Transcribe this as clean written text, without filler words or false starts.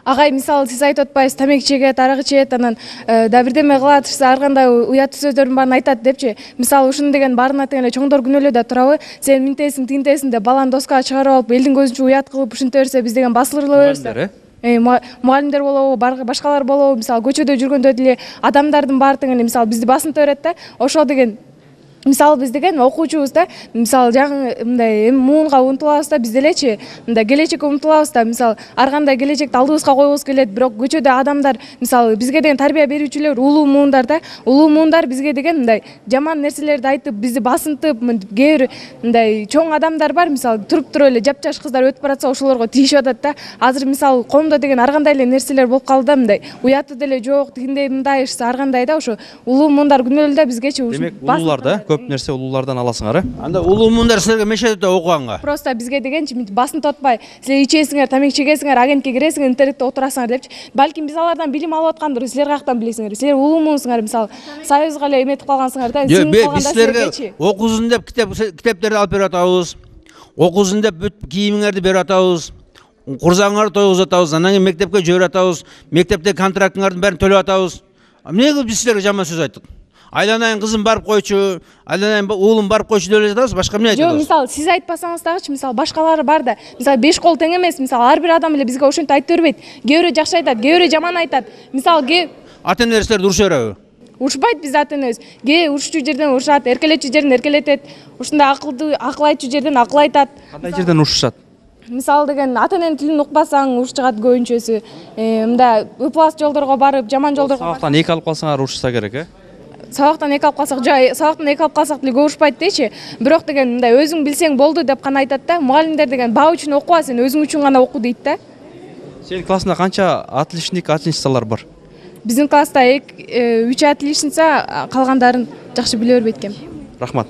Агай, мисалы сиз айтып атпайсыз, тамеки чегет, арак ичет, анан да бирдеме кылат, ар кандай уяттуу сөздөрдүн баарын айтат депчи. Мисалы ушуну деген баарына тең эле чоңдор күнөөлөй да турабы? Сен минтесиң, тинтесиң деп баланы доска чыгарып алып, элдин көзүнчө уят кылып ушинте берсе, биз деген басылыла беребиз. Мугалимдер болобу, башкалар болобу, мисалы көчөдө жүргөндө деле адамдардын баары тең эле мисалы бизди басынта берет да. Ошол деген мисалы биз деген окуучубуз да, мисалы жагы мындай муунга умтулабыз да, биз делечи мындай келечекке умтулабыз да, мисалы ар кандай келечекти алдыбызга койгубуз келет, бирок көчөдө адамдар мисалы бизге деген тарбия берүүчүлөр улуу муундар да, улуу муундар бизге деген мындай жаман нерселерди айтып, бизди басынтып, кээ бир мындай чоң адамдар бар, мисалы туруп туруп эле жапжаш кыздар өтүп баратса ошолорго тийишип атат да. Азыр мисалы коомдо деген ар кандай эле нерселер болуп калды да, мындай уяты деле жок, тигиндей мындайчы ар кандай да, ошо улуу муундар күнөөлүү да бизгечи. Демек улуулар да, көп нерсе улуулардан аласыңар, Анда улуу муундар силерге мешет да окуганга. Просто бизге дегенчи басынтып атпай, силер ичесиңер, тамеки чегесиңер, агентке киресиңер, интернетте отурасыңар депчи. Балким биз алардан билим алып аткандыр, силер каяктан билесиңер? Силер улуу муунсуңар, мисалы союзга эле эметип калгансыңар да. Биз силерге окуусун деп китептерди алып берип атабыз. Окуусун деп бүт кийимиңерди берип атабыз. Курсаңарды тойгузуп атабыз, анан кийин мектепке жиберип атабыз. Мектепте контрактыңардын баарын төлөп атабыз. Эмне кылып биз силерге жаман сөз айттык? Айланайын кызым барып койчу, айланайын уулум барып койчу деп эле жатабыз, башка эмне айтабыз? Жок, мисалы сиз айтпасаңыз дагычы, мисалы башкалары бар да. Мисалы 5 кол тең эмес, мисалы ар бир адам эле бизге ошентип айтып бербейт. Кээ бирөө жакшы айтат, кээ бирөө жаман айтат. Мисалы ата-энелер силерди уруша береби? Урушпайт биз ата-энебиз. Урушчу жерден урушат, эркелетчү жерден эркелетет. Ушундай акыл айтчу жерден акыл айтат. Кандай жерден урушушат? Мисалы деген ата-эненин тилин укпасаң уруш чыгат көбүнчөсү. Мындай ыплас жолдорго барып, жаман жолдорго барып. Сабактан 2 алып калсаңар урушса керек, Сабактан 2 алып калсак, сабактан 2 алып калсак деле урушпайт дечи. Бирок деген мындай өзүң билсең болду деп гана айтат да. Мугалимдер деген баа үчүн окуба, сен өзүң үчүн гана оку дейт да. Сенин классыңда канча отличник, отличницалар бар? Биздин класста 3 отличница, калгандарын жакшы биле бербейт экен. Рахмат.